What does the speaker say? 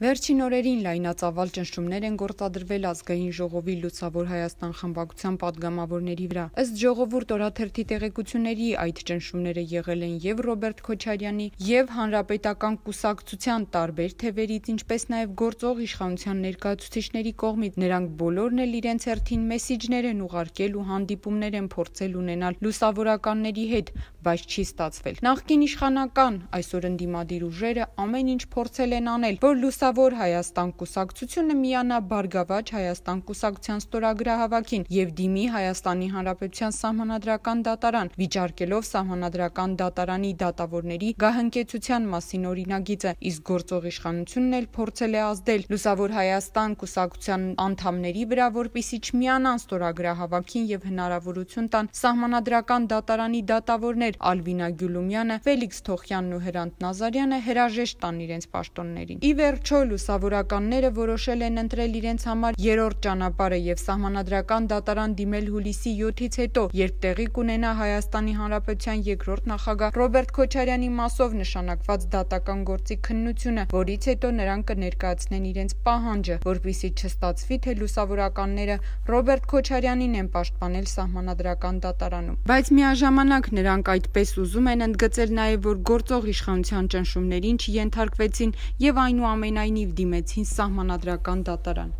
Վերջին օրերին լայնածավալ ճնշումներ են գործադրվել Ազգային ժողովի Լուսավոր Հայաստան խմբակցության падգամավորների վրա։ Ըստ Ժողովուրդ օրաթերթի տեղեկությունների, այդ ճնշումները եղել են եւ Ռոբերտ Քոչարյանի եւ Հանրապետական կուսակցության տարբեր թևերից, ինչպես նաեւ գործող իշխանության ներկայացուցիչների կողմից։ Նրանք բոլորն էլ իրենց հերթին մեսիջներ են ուղարկել ու հանդիպումներ են փորձել ունենալ լուսավորականների հետ, բայց չի ստացվել։ Նախկին իշխանական, այսօր ընդդիմադիր ուժերը ամեն ինչ փորձել են անել, որ Լուսավոր Հայաստան կուսակցությունը միանա Բարգավաճ Հայաստան կուսակցության ստորագրահավաքին եւ դիմի Հայաստանի Հանրապետության Սահմանադրական դատարան, վիճարկելով Սահմանադրական դատարանի դատավորների գահընկեցության մասին օրինագիծը, իսկ գործող իշխանությունն էլ փորձել է ազդել Լուսավոր Հայաստան կուսակցության անդամների վրա, որպեսզի չմիանան ստորագրահավաքին եւ հնարավորություն տան Սահմանադրական դատարանի դատավորներ Ալվինա Գյուլումյանը, Ֆելիքս Թոխյանն ու Հրանտ Նազարյանը հրաժեշտ տան իրենց պաշտոններին։ Ի վերջո լուսավորականները որոշել են ընտրել իրենց համար երրորդ ճանապարհը եւ Սահմանադրական դատարան դիմել հուլիսի 7-ից հետո, երբ տեղի կունենա Հայաստանի Հանրապետության երկրորդ նախագահ Ռոբերտ Քոչարյանի մասով նշանակված դատական գործի քննությունը, որից հետո նրանք կներկայացնեն իրենց պահանջը, որպեսզի չստացվի, թե լուսավորականները Ռոբերտ Քոչարյանին են պաշտպանել Սահմանադրական դատարանում։ Բայց միաժամանակ նրանք այդպես ուզում են ընդգծել նաև, որ գործող իշխանության ճնշումներին չենթարկվեցին եւ այնուամենայնիվ դիմեցին Սահմանադրական դատարան։